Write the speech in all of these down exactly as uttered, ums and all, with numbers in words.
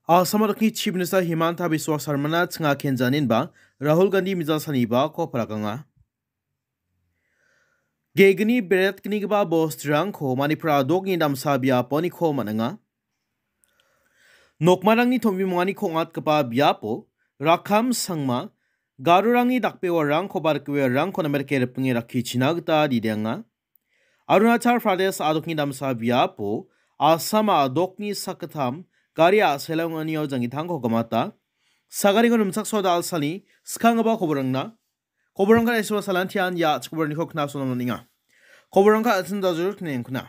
Asam adokni Chief Minister Himanta Biswa Sarmana chinga kenjaninba Rahul Gandhi mijal salnibako palakanga. Gegni beretgnigipa bosturangko Manipur adokni damsa biaponiko man·enga. Nokmarangni tombimonganiko ong·atgipa biapo Rakham Sangma, Garorangni dakbewarangko ba rikgiparangko namerike ripinge rakkichina gita didenga. Arunachal Pradesh adokni damsa biapo Assam adokni sakgittam gari a·selonganio janggitangko gimata. Sagaringo rimchaksoa da·alsani skanggipa koborangna. Koborangka eswa salantian ia chikoborniko knasona man·enga. Koborangka atin dajur knengkuna.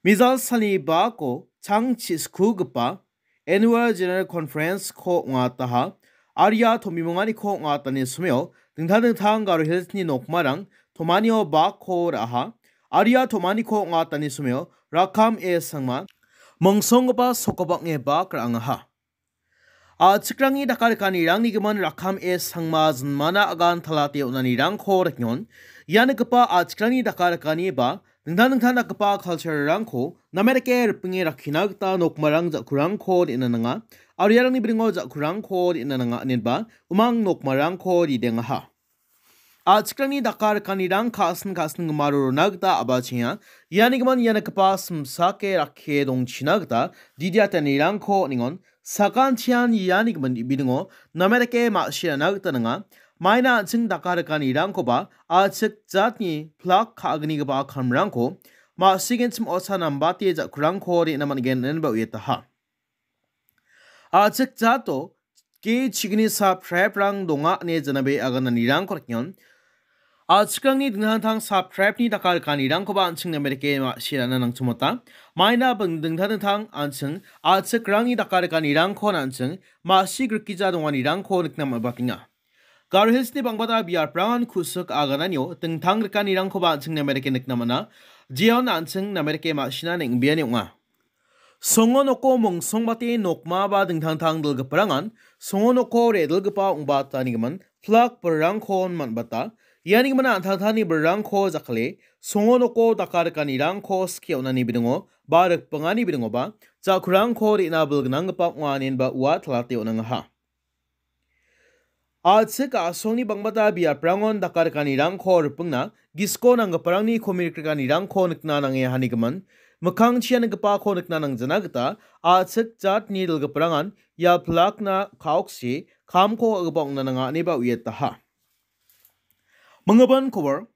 Mijal salni bako chang chiskugipa Annual General Conference-ko ong·ataha, aria tombimonganiko ong·atani someo dingtang dingtang Garo Hills-ni nokmarang tomanio bakko ra·aha, aria tomaniko ong·atani someo Rakham A Sangma, mongsonggipa sokobang·e bak ra·angaha. A·chikrangni dakarikanirangni gimin Rakham A Sangma jinmana agan talate on·anirangko riknon. Ia nikgipa a·chikrangni dakarakani ba dingtang dingtang dakgipa culture-rangko namerike ripinge rakkina gita nokmarang ja·kurangko re·na nanga. Aro iarangni biringo ja·kurangko re·na nanga inenba umang nokmarangko ridengaha. A·chikrangni dakarikanirang ka·sin ka·sin gimaro rona gita a·bachenga. Iani gimin ia nikgipa simsake rakkie dongchina gita didiatanirangko on·engon. Sakantian iani gimin ibidingo namerike ma·sirana gita nanga. Maina an·ching dakarikanirangkoba a·chik jatni plak ka·agnigipa kamrangko ma·sigenchim osa nambate ja·kurangko re·na man·gen inenba uiataha. A·chik jato ge chigni subscribe-rang donga ine janabe agananirangko riknon. A·chikrangni dingtang dingtang subscribe-ni dakarikanirangkoba an·ching namerike ma·sirana nangchimota. Maina bang-, dingtang dingtang an·ching a·chikrangni dakarikanirangko an·ching ma·si grikija donganirangko nikna man·batenga. Garo Hills-ni bangbata biaprangan kusik agananio dingtang rikanirangkoba an·ching namerike nikna man·a. Jeon an·ching namerike ma·sina neng·beani ong·a. Songo noko mongsongbate nokma ba dingtang dingtang dilgiparangan songo noko re·dilgipa ong·batani gimin plak birrangko man·bata. Iani gimin an·tangtangni birrangko jakale songo noko dakarikanirangko skie on·ani bidingo ba rikbingani bidingoba ja·kurangko re·na bilgnanggipa ong·a inenba ua talate on·angaha. A·chik a·songni bangbata biaprangon dakarikanirangko ripingna gisiko nanggiparangni komikrikanirangko nikna nange hanigimin, mikkangchia niggipako nikna nangjana gita a·chik jatni dilgiparangan ia plakna ka·oksi kamko ka·gipa ong·na nanga ineba uiataha. Minggipa kobor.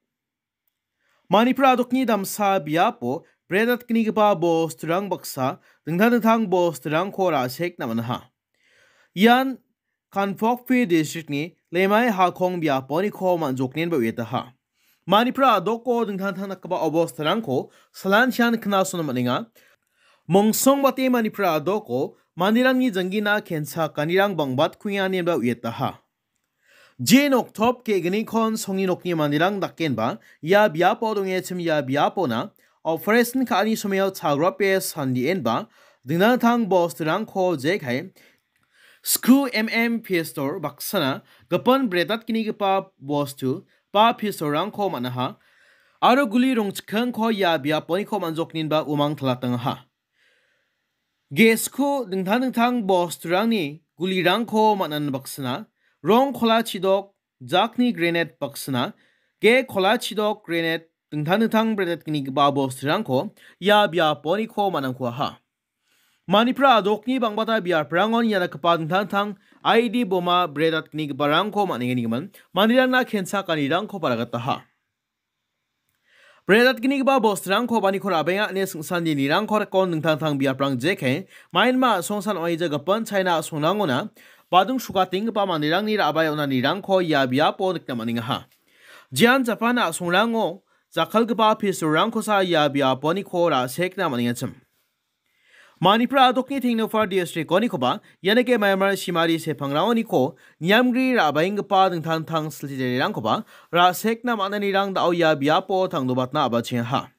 Manipur adokni damsa biapo bredatgnigipa bosturang baksa dingtang dingtang bosturangko ra·sekna man·aha. Ian Kangpokpi districtni Lemai Hakong biaponiko man·joknenba uiataha. Manipur adoko dingtang dingtang dakgipa obostarangko salantian knasona man·enga. Mongsongbate Manipur adoko manderangni janggina kenchakanirang bang·batkuenga ineba uiataha. Je noktop ge·gnikon songni nokni manderang dakenba ia biapo dongechim ia biapona operation ka·ani someo chagrape sandienba dingtang dingtang bosturangko jekai sku M M pistol baksana gipin bredatgnigipa bostu ba pistolrangko man·aha aro guli rongchikkingko ia biaponiko man·jokninba umang talatangaha. Gesku dingtang dingtang bosturangni gulirangko man·ani baksana, rong kola chidok, jakni grenade baksana, ge kola chidok grenade dingtang dingtang bredatgnigipa bosturangko ia biaponiko man·angkuaha. Manipur adokni bangbata biaprangon ia dakgipa dingtang dingtang I E D boma bredatgnigiparangko man·engenigimin manderangna kenchakanirangko baragataha. Bredatgnigipa bosturangko baniko ra·baenga ine singsandirangko rikon dingtang dingtang biaprang jeke, Myanmar a·songsan oaija gipin China a·songrangona badung sukatenggipa manderangni ra·bae on·anirangko ia biapo nikna man·engaha. Jian Japan a·songrango jakkalgipa pistolrangkosa ia biaponiko ra·sekna man·engachim. Manipur adokni Tengnoupal district-onikoba, ianike Myanmar simari sepangrangoniko niamgri ra·baenggipa dingtang dingtang silchi jarirangkoba ra·sekna man·anirang da·o ia biapo tangdobatna a·bachengaha.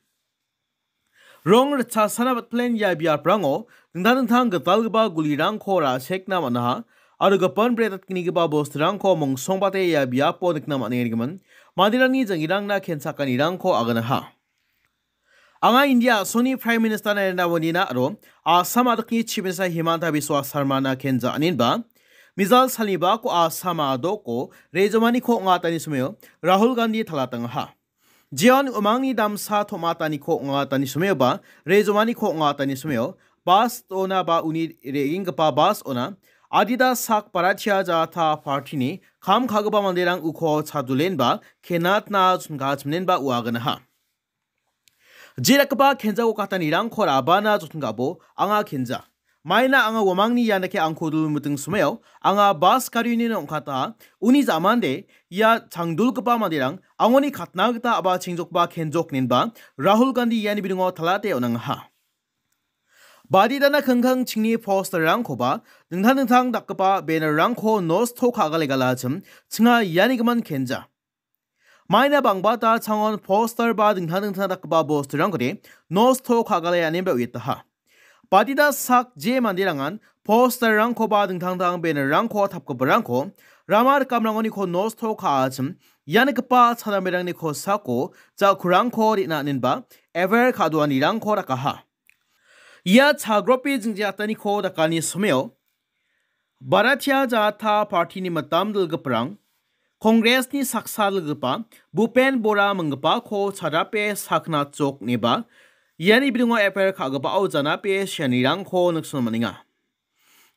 Rong ritchasana batplen ia biaprango dingtang dingtang gitalgipa gulirangko ra·sekna man·aha, aro gipin bredatgnigipa bosturangko mongsongbate ia biapo nikna man·engimin, manderangni janggirangna kenchakanirangko aganaha. Anga India a·songni Prime Minister Narendra Modina aro Assam a·dokni Chief Minister Himanta Biswa Sarmana kenja aninba, mizal salnibako Assam a·doko rejomaniko ong·atani someo Rahul Gandhi talatangaha. Jeon umangni damsa tom·ataniko ong·atani someoba, rejomaniko ong·atani someo, bas dona ba uni re·enggipa bas ona, adita sak Bharatiya Janata Party-ni kam ka·gipa manderang uko chadulenba, kenatna chingachimnenba uaganaha. Jerakgipa kenjao katanirangko rabana jotgabo anga kenja. Maina anga uamangni ianake angko dul miting someo, anga bas garini ong·kata, uni jamande ia changdulgipa manderang angoni katna gita a·ba chingjokba kenjok ninba Rahul Gandhi iani bidingo talate on·angaha. Baditana kingkang chingni posterrangkoba dingtang dingtang dakgipa bannerrangko nosto ka·gale galachim chinga ianigimin kenja. Maina bangbata changon poster ba dingtang dingtang dakgipa bosturangkode nosto ka·gale anemba uietaha. Badita sak je manderangan posterrangko ba dingtang dingtang bannerrangko tapgiparangko rama rikamrangoniko nosto ka·achim ianigipa chadamerangni kosako ja·kurangko re·na aninba ever ka·doanirangko dakaha. Ia chagrope jingjataniko dakani someo Bharatiya Janata Party-ni mitam dilgiparang, Congress-ni saksa dilgipa Bhupen Bora minggipako chadape sakna chok neba, iani bidingo efer ka·gipao janape sianirangko nikson man·enga.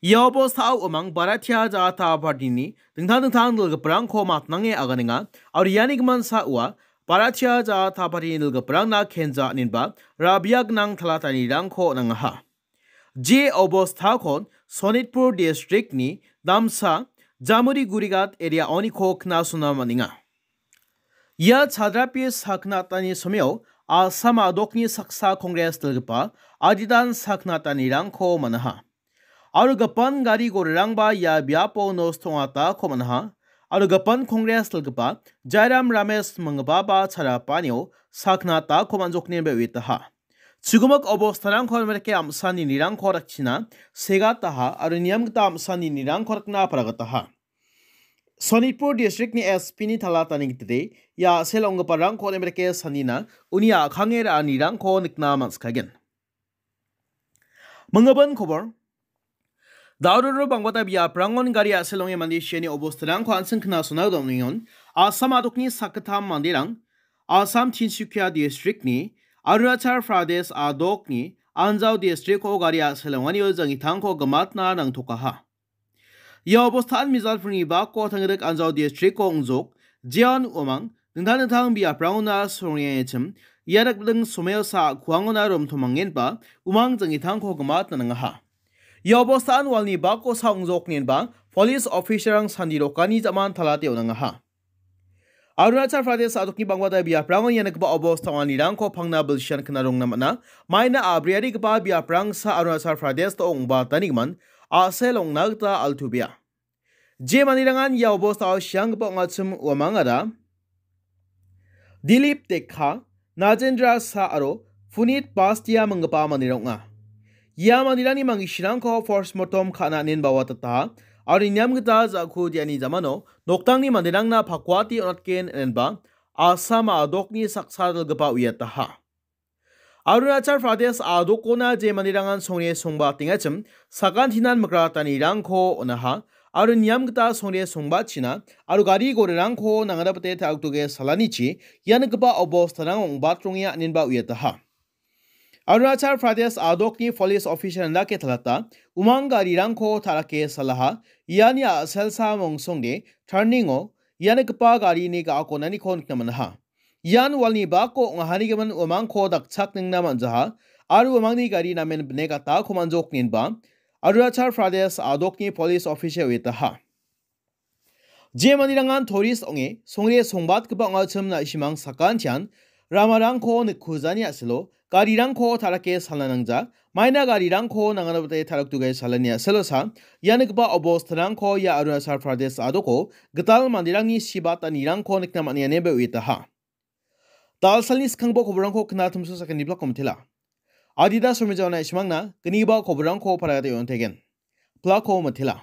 Ia obostao umang Bharatiya Janata Party-ni dingtang dingtang dilgiparangko matnange aganenga, aro iani gimin sa ua Bharatiya Janata Party-ni dilgiparangna kenja ninba rabia gnang talatanirangko nangaha. Je obostakon Sonitpur district-ni damsa Jamuri Gurigat area-oniko knasona man·enga. Ia chadrapi saknatani someo Assam a·dokni saksa Congress dilgipa aditan saknatanirangko man·aha. Aro gipin gari gorirangba ia biapo nosto ong·atako man·aha. Aro gipin Congress dilgipa Jairam Ramesh minggipaba chadapanio saknatako man·jokni be uitaha. Chigimik obostarangko imerke am·sani nirangko dakchina segataha aro niam gita am·sani nirangko dakna paragataha. Sonitpur district-ni S P-ni talatani gitade ia a·sel ong·giparangko imerke sanina uni a·kange ra·anirangko nikna man·sikagen. Minggipa kobor. Dauroro bangbata biaprangon gari a·sel ong·e mande siani obostarangko an·ching knasona dongningon Assam a·dokni sakgittam manderang Assam Tinsukia district-ni Arunachal Pradesh a·dokni Anjaw district-o gari a·sel ong·anio jangitangko gimatna nangtokaha. Ia obostaan mijalpringni bako tangrik Anjaw district-o ong·jok jeon uamang dingtang dingtang biaprangona songrengengchim ia dakbiding someo sa kuangona romtomangenba umang jangitangko gimatna nangaha. Ia obostaan walni bako sa ong·jok nenba police officer-rang sandi rokani jaman talate on·angaha. Arunachal Pradesh a·dokni bangbata biaprango ia nikgipa obosta ong·anirangko pangna bilsian knarongna man·a. Maina a·briarigipa biaprangsa Arunachal Pradesh-o ong·batanigimin a·sel ong·na gita altu bia. Je manirangan ia obostao sianggipa ong·achim uamangara Dilip Dekha, Najendra Shah aro Punit Bastia minggipa manderang ong·a. Ia manderangni mangisirangko postmortem ka·na nen bawatataha aro niam gita ja·ku diani jamano noktangni manderangna pakuati on·atgen inenba Assam a·dokni saksa dalgipa uiataha. Arunachal Pradesh a·dokona je manderangan songre songbatengachim sakantinan mikratanirangko on·aha aro niam gita songre songbatchina aro gari gorirangko nangadapate ta·akdoge salanichi ia nikgipa obostarang ong·batronge aninba uiataha. Arunachal Pradesh a·dokni police officer-rang dake talata umang garirangko ta·rake salaha iani a·selsa mongsongde turning-o ia nikgipa garini ga·akonaniko nikna man·aha. Ian walni bako ong·ahanigimin uamangko dakchakningna man·jaha aro uamangni gari namen bine gatako man·jok nenba Arunachal Pradesh a·dokni police officer uiataha. Je manirangan tourist ong·e songre songbatgipa ong·achim na·simang sakantian ramarangko nikkujani a·selo garirangko ta·rake salna nangja, maina garirangko nanganabate ta·rakduge salani a·selosa ia nikgipa obostarangko ia Arunachal Pradesh a·doko gital manderangni sibatanirangko nikna man·enganebe uiataha. Dalsalni skangbo koborangko knatimso sakani blako mitela. Adida somija ona isimangna gniba koborangko paragate on·tegen. Blako mitela.